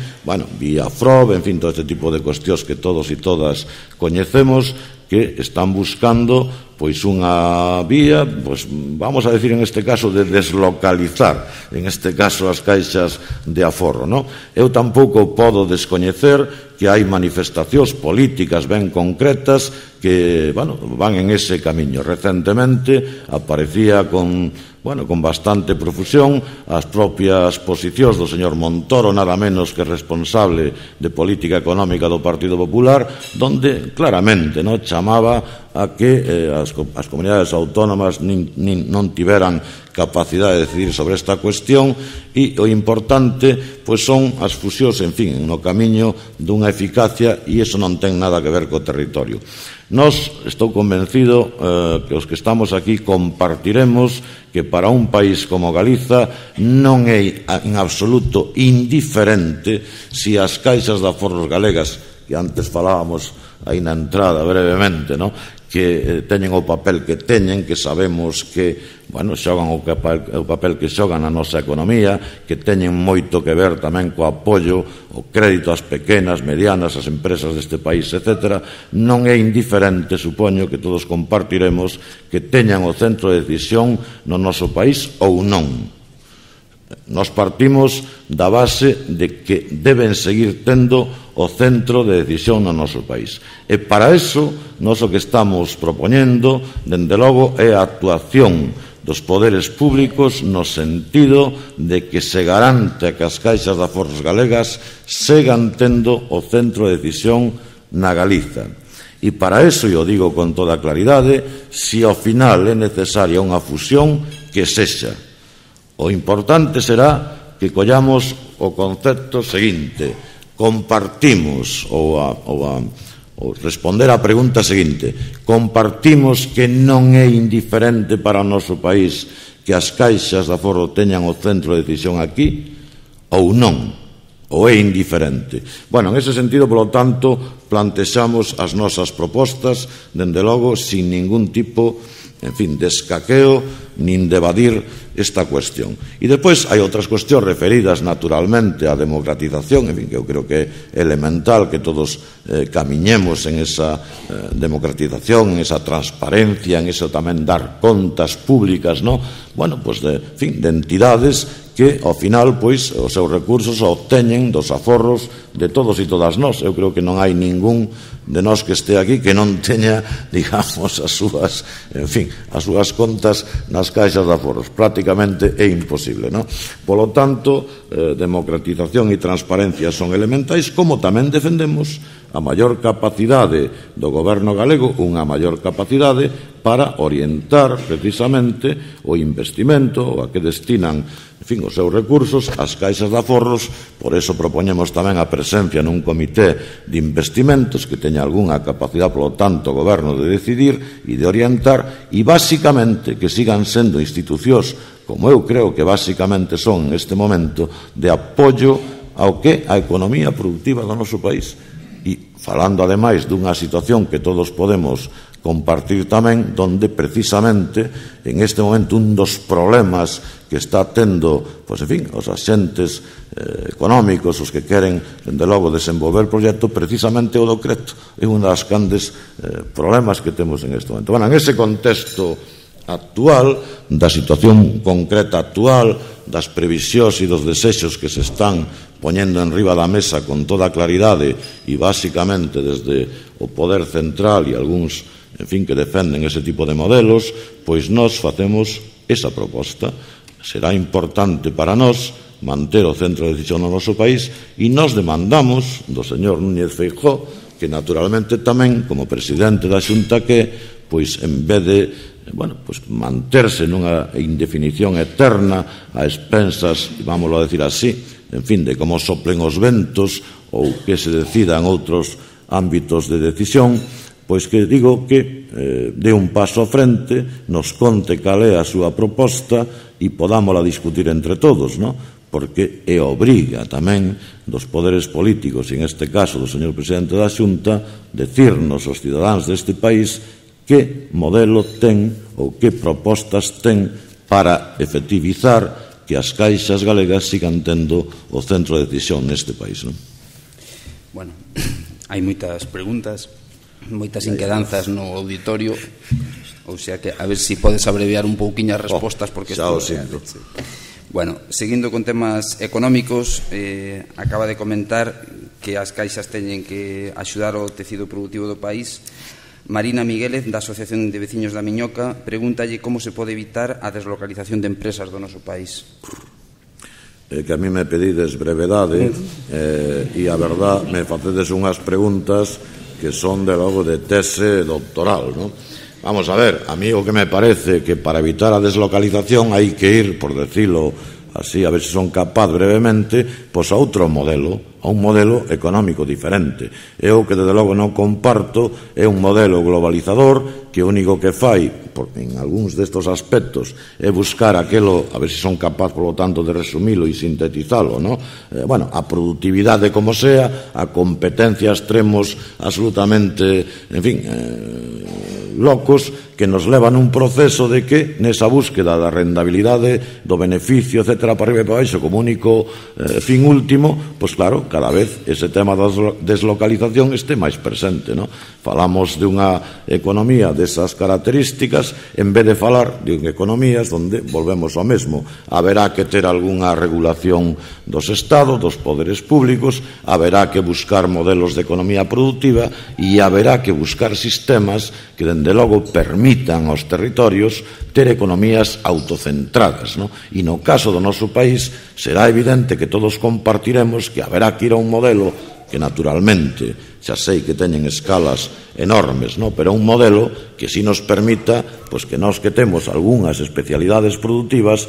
vía FROB, en fin, todo este tipo de cuestións que todos e todas coñecemos, que están buscando pois unha vía, pois vamos a decir en este caso de deslocalizar, en este caso as caixas de aforro, non? Eu tampouco podo descoñecer que hai manifestacións políticas ben concretas que, bueno, van en ese camiño. Recentemente aparecía con bastante profusión as propias posicións do señor Montoro, nada menos que responsable de política económica do Partido Popular, donde claramente chamaba a que as comunidades autónomas non tiveran capacidade de decidir sobre esta cuestión, e o importante pois son as fusións, en fin, no camiño dunha eficacia, e iso non ten nada que ver co territorio. Nós, estou convencido que os que estamos aquí compartiremos que para un país como Galiza non é en absoluto indiferente se as caixas de aforros galegas, que antes falábamos aí na entrada brevemente, que teñen o papel que teñen, que sabemos que xogan o papel que xogan na nosa economía, que teñen moito que ver tamén co apoio, o crédito ás pequenas, medianas, ás empresas deste país, etc. Non é indiferente, supoño que todos compartiremos, que teñan o centro de decisión no noso país ou non. Nos partimos da base de que deben seguir tendo o centro de decisión no noso país. E para iso, nós o que estamos propoñendo, dende logo, é a actuación dos poderes públicos no sentido de que se garante que as caixas de aforros galegas sigan tendo o centro de decisión na Galiza. E para iso, eu digo con toda claridade, se ao final é necesaria unha fusión, que sexa. O importante será que collamos o concepto seguinte: compartimos, ou responder á pregunta seguinte: compartimos que non é indiferente para o noso país que as caixas de aforro teñan o centro de decisión aquí, ou non, ou é indiferente? En ese sentido, polo tanto, plantexamos as nosas propostas, dende logo, sin ningún tipo, en fin, de escaqueo, nin de evadir esta cuestión. E depois hai outras cuestións referidas naturalmente á democratización, en fin, que eu creo que é elemental que todos camiñemos en esa democratización, en esa transparencia, en eso tamén dar contas públicas, de entidades que, ao final, pois, os seus recursos obteñen dos aforros de todos e todas nós. Eu creo que non hai ningún de nós que este aquí que non teña, digamos, as súas contas nas caixas de aforros. Prácticamente é imposible, non? Polo tanto, democratización e transparencia son elementais, como tamén defendemos a maior capacidade do goberno galego, unha maior capacidade para orientar precisamente o investimento, a que destinan, en fin, os seus recursos, as caixas de aforros. Por eso propoñemos tamén a presencia nun comité de investimentos que teña algunha capacidade, polo tanto, o goberno de decidir e de orientar, e basicamente que sigan sendo institucións, como eu creo que basicamente son en este momento, de apoio ao que a economía productiva do noso país. E falando ademais dunha situación que todos podemos compartir tamén, donde precisamente en este momento un dos problemas que está tendo, pois, en fin, os axentes económicos, os que queren, dende logo, desenvolver o proxecto, precisamente o do crédito. É un das grandes problemas que temos en este momento. En ese contexto actual, da situación concreta actual, das previsións e dos desexos que se están poñendo en riba da mesa con toda claridade e basicamente desde o poder central e algúns, en fin, que defenden ese tipo de modelos, pois nós facemos esa proposta. Será importante para nós manter o centro de decisión no noso país, e nós demandamos do señor Núñez Feijóo que naturalmente tamén, como presidente da Xunta, que, pois, en vez de manterse nunha indefinición eterna a expensas, vámoslo a decir así, en fin, de como soplen os ventos ou que se decida en outros ámbitos de decisión, pois que digo que dé un paso á frente, nos conte cal é a súa proposta e podámola discutir entre todos, non? Porque é obriga tamén dos poderes políticos, e en este caso do señor presidente da Xunta, decirnos aos cidadáns deste país que modelo ten ou que propostas ten para efectivizar que as caixas galegas sigan tendo o centro de decisión neste país, non? Hai moitas preguntas. moitas inquedanzas no auditorio, ou sea que a ver se podes abreviar un pouquiño as respostas, porque xa o sinto. Bueno, seguindo con temas económicos, acaba de comentar que as caixas teñen que axudar ao tecido productivo do país. Marina Miguélez, da Asociación de Veciños da Miñoca, pregúntalle como se pode evitar a deslocalización de empresas do noso país. Que a mí me pedides brevedade e a verdad me facedes unhas preguntas que son de logo de tese doctoral, non? Vamos a ver, a mí o que me parece que para evitar a deslocalización hai que ir, por decirlo así, a ver se son capaz brevemente, pois a outro modelo, a un modelo económico diferente. Eu que desde logo non comparto é un modelo globalizador que o único que fai, en algúns destos aspectos, é buscar aquelo, a ver se son capaz, por lo tanto, de resumilo e sintetizalo, ¿no? Bueno, a productividade como sea, a competencia extremos absolutamente, en fin, locos, que nos levan un proceso de que nesa búsqueda da rentabilidade, do beneficio, etcétera, para arriba e para baixo, como único fin último, pois claro, cada vez ese tema da deslocalización este máis presente, non? Falamos dunha economía desas características en vez de falar de economías onde volvemos ao mesmo. Haberá que ter algunha regulación dos estados, dos poderes públicos, haberá que buscar modelos de economía productiva e haberá que buscar sistemas que dende logo permitan aos territorios ter economías autocentradas, non? E no caso do noso país será evidente que todos compartiremos que haberá que ir a un modelo que naturalmente xa sei que teñen escalas enormes, non? Pero un modelo que si nos permita pois que nós que temos algunhas especialidades productivas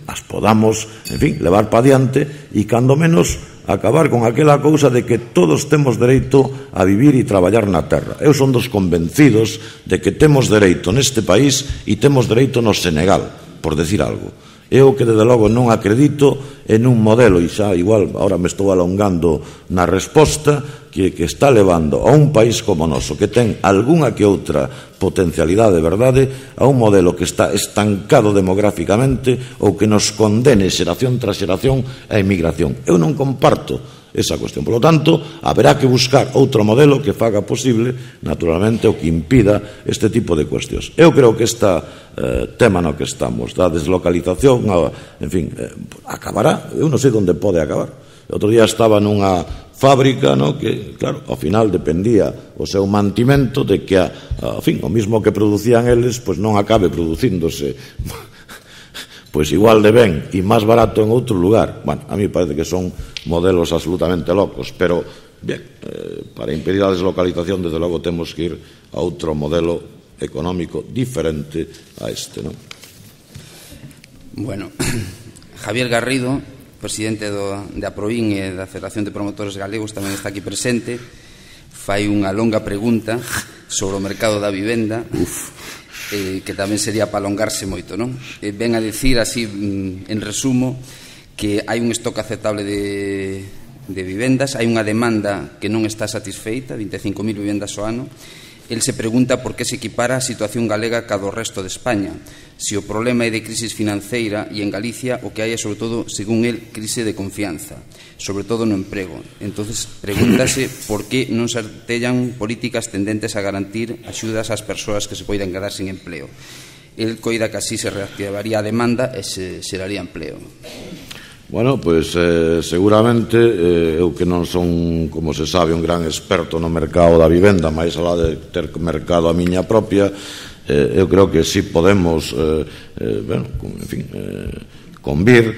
as podamos, en fin, levar pa diante e cando menos acabar con aquela cousa de que todos temos dereito a vivir e traballar na terra. Eu son dos convencidos de que temos dereito neste país e temos dereito no Senegal, por decir algo. Eu que, desde logo, non acredito en un modelo, e xa, igual, ahora me estou alongando na resposta, que está levando a un país como o noso, que ten algunha que outra potencialidade, verdade, a un modelo que está estancado demográficamente ou que nos condene xeración tras xeración a emigración. Eu non comparto esa cuestión. Por lo tanto, haberá que buscar outro modelo que faga posible, naturalmente, o que impida este tipo de cuestións. Eu creo que este tema no que estamos, da deslocalización, en fin, acabará, eu non sei onde pode acabar. O outro día estaba nunha fábrica, no, que, claro, ao final dependía o seu mantimento de que, ao fin, o mismo que producían eles, pois non acabe producíndose pois igual de ben e máis barato en outro lugar. Bueno, a mí parece que son modelos absolutamente locos, pero, bien, para impedir a deslocalización, desde logo, temos que ir a outro modelo económico diferente a este, non? Bueno, Javier Garrido, presidente de Aprovín e da Federación de Promotores Galegos, tamén está aquí presente, fai unha longa pregunta sobre o mercado da vivenda, que tamén sería para alongarse moito, non? Ven a dicir, así, en resumo, que hai un stock aceptable de vivendas, hai unha demanda que non está satisfeita, 25.000 vivendas ao ano. El se pregunta por que se equipara a situación galega ca do resto de España, se o problema é de crisis financeira e en Galicia o que hai é, sobre todo, según el, crise de confianza, sobre todo no emprego. Entonces, pregúntase por que non se artellan políticas tendentes a garantir axudas ás persoas que se poidan quedar sin empleo. El coida que así se reactivaría a demanda e se xeraría empleo. Bueno, pois seguramente eu que non son, como se sabe, un gran experto no mercado da vivenda, máis alá de ter mercado a miña propia, eu creo que si podemos, bueno, en fin, convir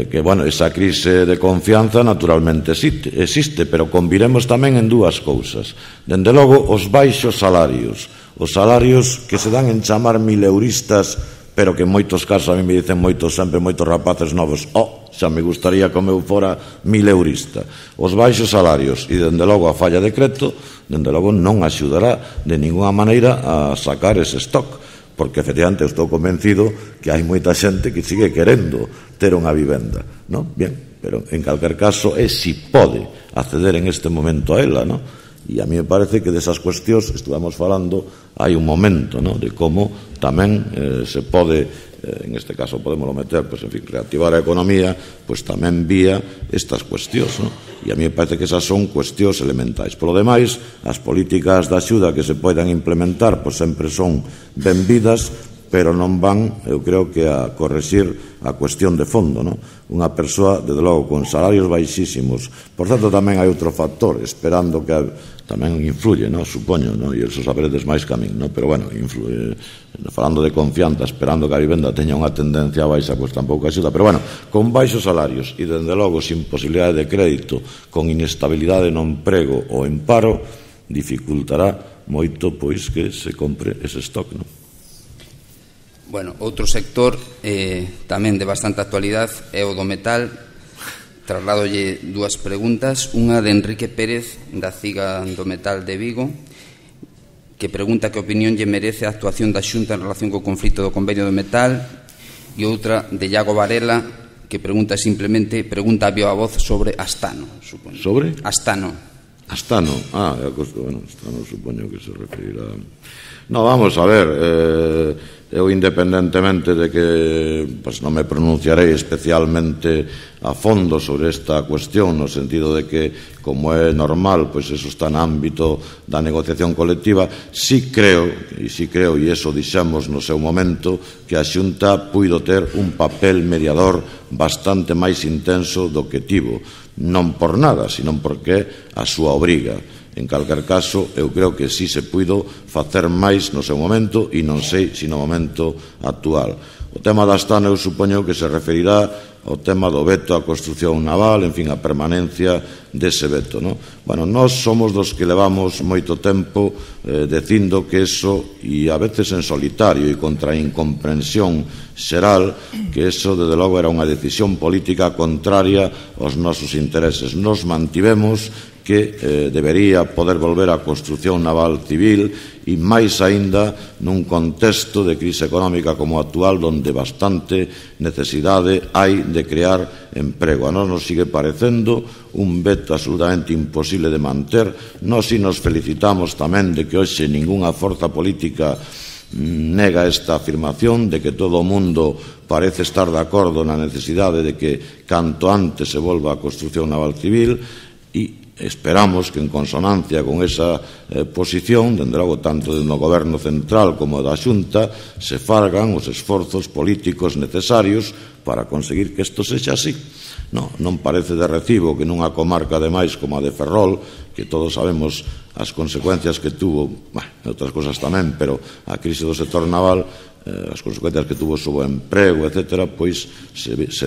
que, bueno, esa crise de confianza naturalmente existe, pero conviremos tamén en dúas cousas. Dende logo, os baixos salarios, os salarios que se dan en chamar mileuristas, pero que en moitos casos a mí me dicen sempre moitos rapaces novos, xa me gustaría como eu fora mileurista. Os baixos salarios e, dende logo, a falla de crédito, dende logo, non axudará de ninguna maneira a sacar ese stock, porque, efectivamente, estou convencido que hai moita xente que sigue querendo ter unha vivenda, non? Bien, pero, en calquer caso, si pode acceder en este momento a ela, non? E a mí me parece que desas cuestións estuvamos falando hai un momento, ¿no?, de como tamén se pode, en este caso podemos meter, pues, en fin, reactivar a economía, pues tamén vía estas cuestións, ¿no? E a mí me parece que esas son cuestións elementais. Por lo demais, as políticas de axuda que se poidan implementar, pues sempre son benvidas, pero non van, eu creo que a correxir a cuestión de fondo, ¿no? Unha persoa, desde logo, con salarios baixísimos. Por tanto, tamén hai outro factor, esperando que tamén influye, ¿no?, supoño, ¿no?, e eso saberedes máis que a min, ¿no?, pero, bueno, influye, falando de confianza, esperando que a vivenda teña unha tendencia baixa, pues tampouco axuda, pero, bueno, con baixos salarios e, dende logo, sin posibilidade de crédito, con inestabilidade no emprego ou en paro, dificultará moito, pois, que se compre ese stock, ¿no? Bueno, outro sector tamén de bastante actualidade é o do metal. Trasladolle dúas preguntas, unha de Enrique Pérez da Ciga do Metal de Vigo, que pregunta que opinión lle merece a actuación da Xunta en relación co conflito do convenio do metal, e outra de Iago Varela, que pregunta simplemente, pregunta a viva voz sobre Astano, supoño. Sobre? Astano. Astano, bueno, Astano supoño que se referirá. No, vamos a ver, eu independentemente de que pues, non me pronunciarei especialmente a fondo sobre esta cuestión, no sentido de que, como é normal, pues eso está no ámbito da negociación colectiva, sí creo, e iso dixemos no seu momento, que a Xunta puido ter un papel mediador bastante máis intenso do que tivo, non por nada, sino porque a súa obriga. En calquer caso, eu creo que sí se puido facer máis no seu momento e non sei se no momento actual. O tema da Astano eu supoño que se referirá ao tema do veto á construción naval, en fin, a permanencia dese veto, ¿no? Bueno, nós somos dos que levamos moito tempo dicindo que eso, e a veces en solitario e contra a incomprensión xeral, que eso, desde logo, era unha decisión política contraria aos nosos intereses. Nos mantivemos que debería poder volver á construción naval civil e máis aínda nun contexto de crise económica como actual, onde bastante necesidade hai de crear emprego. A nós nos sigue parecendo un veto absolutamente imposible de manter. Nós si nos felicitamos tamén de que hoxe ningunha forza política nega esta afirmación, de que todo o mundo parece estar de acordo na necesidade de que canto antes se volva á construción naval civil, e esperamos que, en consonancia con esa posición, dende logo tanto no Goberno central como da Xunta, se fagan os esforzos políticos necesarios para conseguir que isto sexa así. Non parece de recibo que nunha comarca ademais como a de Ferrol, que todos sabemos as consecuencias que tuvo, outras cosas tamén, pero a crise do sector naval, as consecuencias que tuvo sobre o emprego, etc., pois se vexe